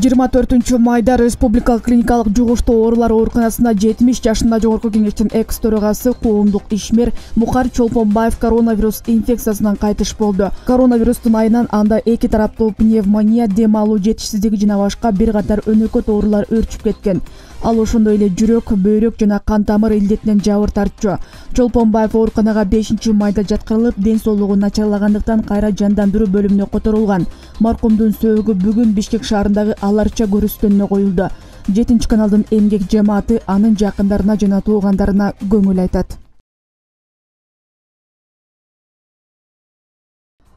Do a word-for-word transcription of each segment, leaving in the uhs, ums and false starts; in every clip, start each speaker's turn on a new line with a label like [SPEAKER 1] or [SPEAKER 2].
[SPEAKER 1] жыйырма төртүнчү майда Республикалык клиникалык жугуштуу оорулар ооруканасында жетимиш жашында жогорку кеңештин экс төрагасы коомдук ишмер Мухар Чолпонбаев коронавирус инфекциясынан кайтыш болду. Коронавирустун айынан анда эки тараптуу пневмония, дем алуу жетишсиздиги жана башка бир катар өнөкөт оорулар өрчүп кеткен. Ал ошондой эле жүрөк, бөйрөк жана кан тамыр илдетинен жабыр тартчу. Чолпонбаев ооруканага бешинчи майда жаткырылып, ден соолугу начарлагандыктан кайра жандандыруу бөлүмүнө которулган. Маркумдун сөөгү бүгүн Бишкек шаарындагы Аларча көрүстөнүнө коюлду. жетинчи каналдын эмгек жамааты анын жакындарына жана туугандарына көңүл айтат.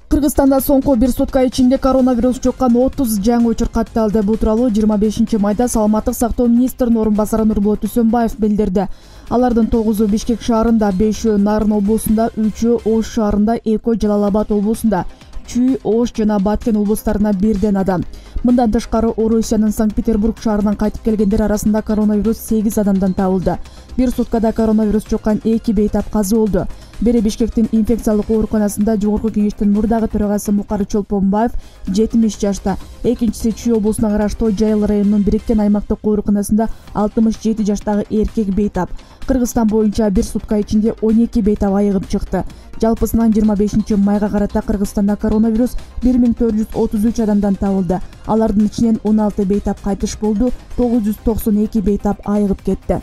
[SPEAKER 1] Кыргызстанда соңку бир сутка ичинде коронавирус жуккан отуз жаңы учур катталды. Бул тууралуу жыйырма бешинчи майда Саламаттык сактоо министринин орун басары Нурболот Үсөнбаев билдирди. Алардын тогузу Бишкек шаарында, бешөө Нарын облусунда, үчөө Ош шаарында, экөө Жалал Абад облусунда, Чүй, Ош жана Баткен облустарына бирден адам. Мындан тышкары Орусиянын Санкт-Петербург шаарынан кайтып келгендер арасында коронавирус сегиз адамдан табылды. Бир суткада коронавирус жуккан эки бейтап каза болду. Бири Бишкектин инфекциялык ооруканасында жогорку кеңештин мурдагы төрагасы Мухар Чолпонбаев жетимиш жашта, экинчиси Чүй облусуна караштуу Жайыл районунун бириккен аймактык ооруканасында алтымыш жети жаштагы эркек бейтап. Кыргызстан боюнча бир сутка ичинде он эки бейтап айыгып чыкты. Жалпысынан жыйырма бешинчи майга карата Кыргызстанда коронавирус бир миң төрт жүз отуз үч адамдан табылды. Алардын ичинен он алты бейтап кайтыш болду, тогуз жүз токсон эки бейтап айыгып кетти.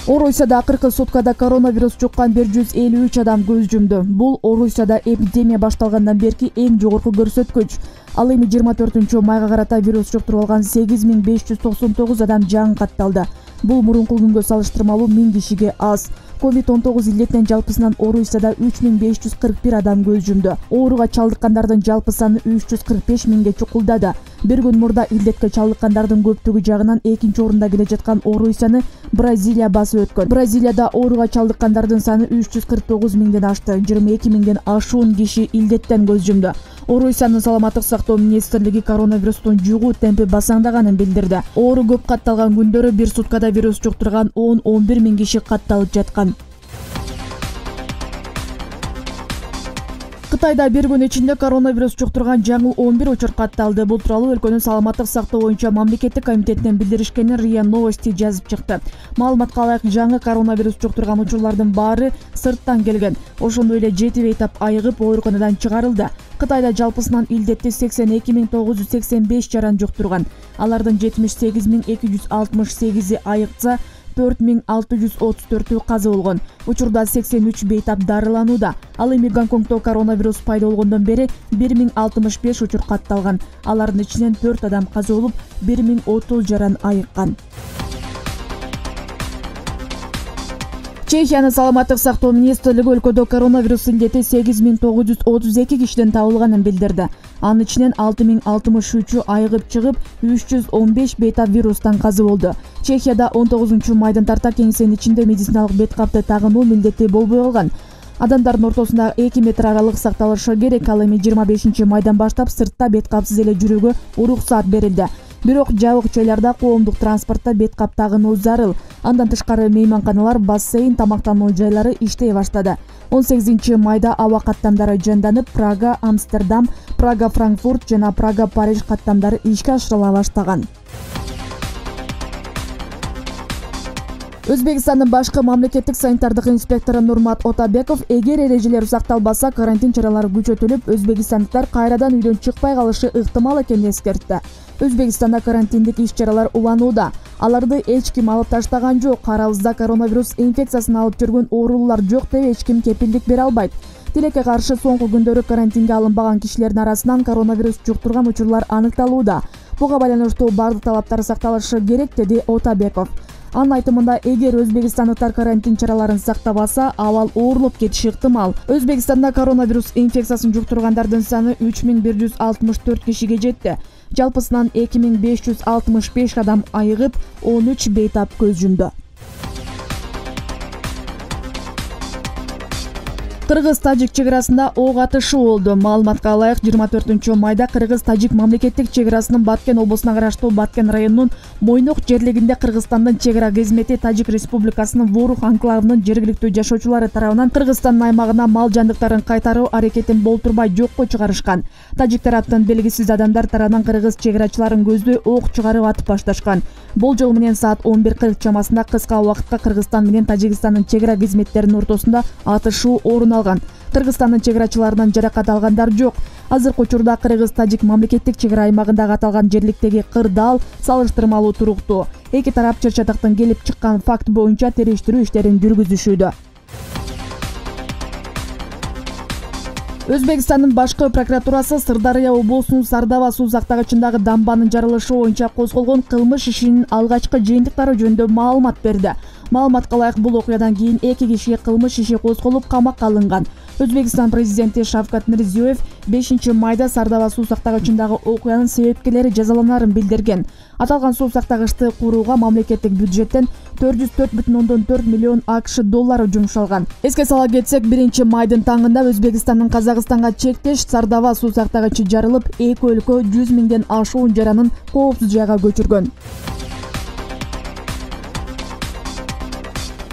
[SPEAKER 1] Орусияда акыркы суткада коронавирус жуккан бир жүз элүү үч адам көз жумду. Бул Орусияда эпидемия башталгандан берки эң жогорку көрсөткүч. Ал эми жыйырма төртүнчү майга карата вирус жуктуруп алган сегиз миң беш жүз токсон тогуз адам жаңы катталды. Бул мурунку күнгө салыштырмалуу миң кишиге аз. ковид он тогуз илдетинен жалпысынан Орусияда үч миң беш жүз кырк бир адам көз жумду. Ооруга чалдыккандардын жалпы саны үч жүз кырк беш миңге чукулдады. Бир күн мурда илдетке чалдыккандардын көптүгү жагынан экинчи орунда келе жаткан Орусияны Бразилия басып өткөн. Бразилияда ооруга чалдыккандардын саны үч жүз кырк тогуз миңден ашты. жыйырма эки миңден ашуун киши илдеттен көз жумду. Орусиянын Саламаттык сактоо министрлиги коронавирустун жугуу темпи басаңдаганын билдирди. Оору көп катталган күндөрү бир суткада вирус жуктурган он он бир миң киши катталып жаткан. Кытайда бир күн ичинде коронавирус жуктурган жаңы он бир учур катталды. Бул тууралуу өлкөнүн саламаттык сактоо боюнча мамлекеттик комитетинен билдиришкенин РИА Новости жазып чыкты. Маалыматка ылайык, жаңы коронавирус жуктурган учурлардын баары сырттан келген. Ошондой эле жети бейтап айыгып ооруканадан чыгарылды. Кытайда жалпысынан илдетти сексен эки миң тогуз жүз сексен беш жаран жуктурган. Алардын жетимиш сегиз миң эки жүз алтымыш сегизи айыкса, төрт миң алты жүз отуз төртү каза болгон. Учурда сексен үч бейтап дарыланууда. Ал эми Гонконгдо коронавирус пайда болгондон бери бир миң алтымыш беш учур катталган. Алардын ичинен төрт адам каза болуп, бир миң отуз жаран айыккан. Чехиянын Саламаттык сактоо министрлиги өлкөдө коронавирус илдети сегиз миң тогуз жүз отуз эки кишиден табылганын билдирди. Анын ичинен алты миң алтымыш үчү айыгып чыгып, үч жүз он беш бейтап вирустан каза болду. Чехияда он тогузунчу майдан тарта кеңсенин ичинде медициналык бет капты тагынуу милдети болбой калган. Адамдардын ортосунда эки метр аралык сакталышы керек. Ал эми жыйырма бешинчи майдан баштап сыртта бет капсыз эле жүрүүгө уруксат берилди. Бирок жабык жайларда, коомдук транспортто бет кап тагынуу зарыл. Андан тышкары мейманканалар, бассейн, тамактануу жайлары иштей баштады. он сегизинчи майда аба каттамдары жанданып, Прага, Амстердам, Прага, Франкфурт жана Прага, Париж каттамдары ишке ашырыла баштаган. Өзбекстандын башкы мамлекеттик санитардык инспектору Нурмат Отабеков, эгер эрежелер сакталбаса, карантин чаралары күчөтүлүп, өзбекстандыктар кайрадан үйдөн чыкпай калышы ыктымал экенин эскертти. Өзбекстанда карантиндик иш-чаралар уланууда. Аларды эч ким алып таштаган жок. Арабызда коронавирус инфекциясын алып жүргөн оорулар жок деп эч ким кепилдик бере албайт. Тилекке каршы соңку күндөрү карантинге алынбаган кишилердин арасынан коронавирус жуктурган учурлар аныкталууда. Буга байланыштуу бардык талаптар сакталышы керек, деди Отабеков. Анын айтымында, эгер өзбекстандыктар карантин чараларын сактабаса, абал оорулуп кетиши ыктымал. Өзбекстанда коронавирус инфекциясын жуктургандардын саны үч миң бир жүз алтымыш төрт кишиге жетти. Жалпысынан эки миң беш жүз алтымыш беш адам айыгып, он үч бейтап көз жумду. Кыргыз-тажик чек арасында ок атышуу болду. Маалыматка ылайык, жыйырма төртүнчү майда Кыргыз-тажик мамлекеттик чек арасынын Баткен облусуна караштуу Баткен районунун Мойнок жерлигинде Кыргызстандын чек ара кызмети Тажик Республикасынын Ворух анклавынын жергиликтүү жашоочулары тарабынан Кыргызстандын аймагына мал жандыктарын кайтаруу аракетин болтурбай жокко чыгарышкан. Тажик тараптын белгисиз адамдар тарабынан кыргыз чек арачыларын көздөй ок чыгарып атып башташкан. Болжол менен саат он бир кырк чамасында кыска убакытка Кыргызстан менен Тажикстандын чек ара кызметтеринин ортосунда атышуу орун алган. Кыргызстандын чек арачыларынан жаракат алгандар жок. Азыркы учурда Кыргыз-Тажик мамлекеттик чек ара аймагындагы аталган жерликтеги кырдаал салыштырмалуу туруктуу. Эки тарап чыр чатактан келип чыккан факт боюнча териштирүү иштерин жүргүзүшүүдө. Өзбекстандын башкы прокуратурасы Сырдарыя облусунун Сардаба суу сактагычындагы дамбанын жарылышы боюнча козголгон кылмыш ишинин алгачкы жыйынтыктары жөнүндө маалымат берди. Маалыматка ылайык, бул окуядан кийин эки кишиге кылмыш иши козголуп камакка алынган. Өзбекстан президенти Шавкат Мирзиёев бешинчи майда Сардаба суу сактагычындагы окуянын себепкерлери жазаланарын билдирген. Аталган суу сактагычты курууга мамлекеттик бюджеттен төрт жүз төрт бүтүн ондон төрт миллион акш доллары жумшалган. Эске сала кетсек, биринчи майдын таңында Өзбекстандын Казакстанга чектеш Сардаба суу сактагычы жарылып, эки өлкө жүз миңден ашуун жаранын коопсуз жайга көчүргөн.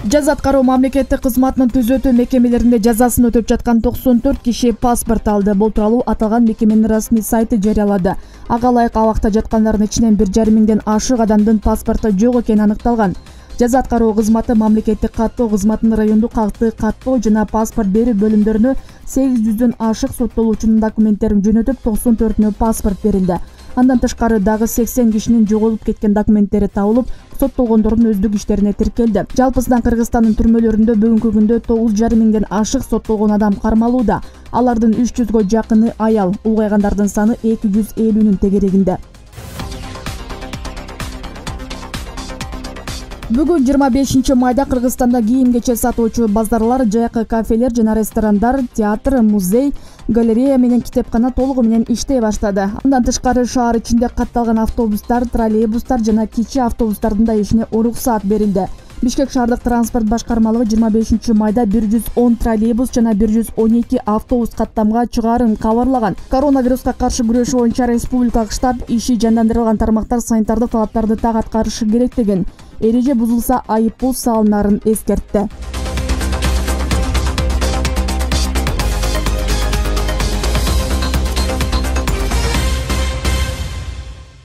[SPEAKER 1] Жаза аткаруу мамлекеттик кызматынын түзөтүү мекемелеринде жазасын өтөп жаткан токсон төрт киши паспорт алды. Бул тууралуу аталган мекеменин расмий сайты жарыялады. Ага ылайык, абакта жаткандардын ичинен бир жарым миңден ашык адамдын паспорту жок экени аныкталган. Жаза аткаруу кызматы мамлекеттик каттоо кызматынын райондук акты каттоо жана паспорт берүү бөлүмдөрүнө сегиз жүздөн ашык соттолуучунун документтерин жөнөтүп, токсон төртүнө паспорт берилди. Андан тышкары дагы сексен кишинин жоголуп кеткен документтери табылып, соттолгондордун өздүк иштерине тиркелди. Жалпысынан Кыргызстандын түрмөлөрүндө бүгүнкү күндө тогуз жарым миңден ашык соттолгон адам кармалууда. Алардын үч жүзгө жакыны аял, улгайгандардын саны эки жүз элүүнүн тегерегинде. Бүгүн жыйырма бешинчи майда Кыргызстанда кийим-кечек сатуучу базарлар, жайкы кафелер жана ресторандар, театр, музей, галерея менен китепкана толугу менен иштей баштады. Андан тышкары шаар ичинде катталган автобустар, троллейбустар жана кичи автобустардын да ишине уруксаат берилди. Бишкек шаардык транспорт башкармалыгы жыйырма бешинчи майда бир жүз он троллейбус жана бир жүз он эки автобус каттамга чыгаарын кабарлаган. Коронавируска каршы күрөшүү боюнча республикалык штаб иши жандандырылган тармактар санитардык талаптарды так аткарышы керек деген. Эреже бузулса айып пул салынарын эскертти.